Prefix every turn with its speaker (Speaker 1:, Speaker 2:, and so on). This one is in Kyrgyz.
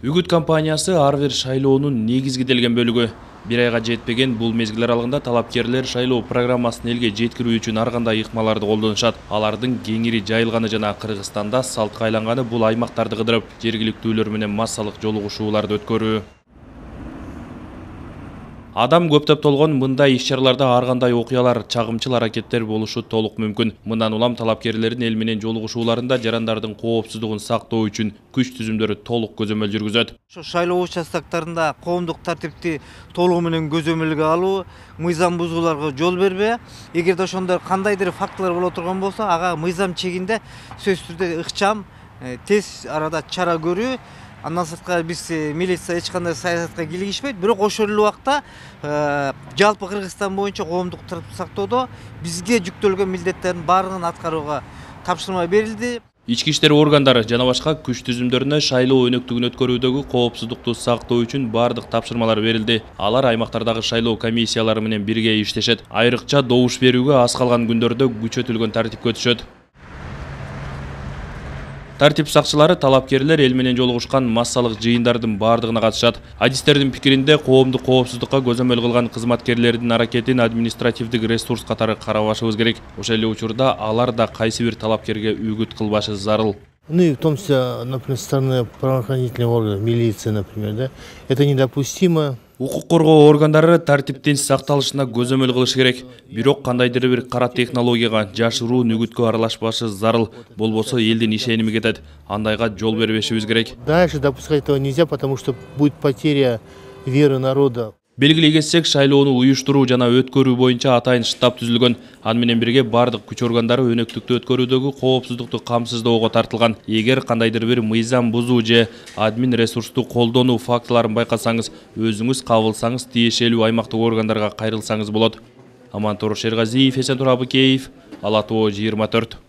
Speaker 1: Үгүт компаниясы ар бир шайлоонун негизгиделген бөлүгү. Bir айга жетпеген бул мезгил аралыгында талапкерлер шайлоо программасын элге жеткирүү үчүн ар кандай ыкмаларды колдонушат. Алардын кеңири жайылганы жана Кыргызстанда салтка айланганы бул аймактарды кыдырып, жергиликтүүлөр менен массалык жолугушууларды өткөрүү. Адам көптөп толгон мындай иш-чараларда ар кандай окуялар, чагымчыл аракеттер болушу толук мүмкүн. Мындан улам талапкерлердин эл менен жолугушууларында жарандардын коопсуздугун сактоо үчүн күч түзүмдөрү толук көзөмөл жүргүзөт.
Speaker 2: Ошо шайлоо участоктарында коомдук тартипти толугу менен көзөмөлгө алуу, мыйзам бузууларга жол бербөө. Эгерде ошондой кандайдыр фактылар боло турган болсо, ага мыйзам чегинде сөзсүз түрдө ыкчам, тез арада чара көрүү. Андан сырткары биз милиция эч кандай саясатка кийлигишпейт, бирок ошол эле убакта жалпы Кыргызстан боюнча коомдук тартипти сактоодо бизге жүктөлгөн милдеттердин баардыгын аткарууга тапшырма берилди.
Speaker 1: Ички иштер органдары жана башка күч түзүмдөрүнө шайлоо өнөктүгүн өткөрүүдөгү коопсуздукту сактоо үчүн бардык тапшырмалар берилди. Алар аймактардагы шайлоо комиссиялары менен бирге иштешет. Айрыкча добуш берүүгө аз калган күндөрдө күчөтүлгөн тартипке өтүшөт. Тартип сакчылары талапкерлер эл менен жолугушкан массалык жыйындардын бардыгына катышат. Адистердин пикиринде коомдук коопсуздукка көзөмөл кылган кызматкерлердин аракетин административдик ресурс катары карабашыбыз керек. Ошол эле учурда алар да кайсы бир талапкерге үгүт кылбашы зарыл.
Speaker 3: Ну и в том числе, например, со стороны правоохранительных органов, милиции, например, да, это недопустимо.
Speaker 1: Укук коргоо органдары тартиптин сакталышына көзөмөл кылыш керек. Бирок кандайдыр бир кара технологияга, жашыруун үгүткө аралашпашы зарыл. Болбосо элдин ишеними кетет. Андайга жол бербешибиз керек.
Speaker 3: Дальше допускать этого нельзя, потому что будет потеря веры народа.
Speaker 1: Белгилей кетсек, шайлоону уюштуруу жана өткөрүү боюнча атайын штаб түзүлгөн. Аны менен бирге бардык күч органдары өнөктүктү өткөрүүдөгү коопсуздукту камсыздоого тартылган. Эгер кандайдыр бир мыйзам бузуу же админ ресурсту колдонуу фактыларын байкасаңыз, өзүңүз кабылсаңыз, тиешелүү аймактык органдарга кайрылсаңыз болот. Амантор Шергазиев, Эсентур Абыкеев, Ала Тоо 24.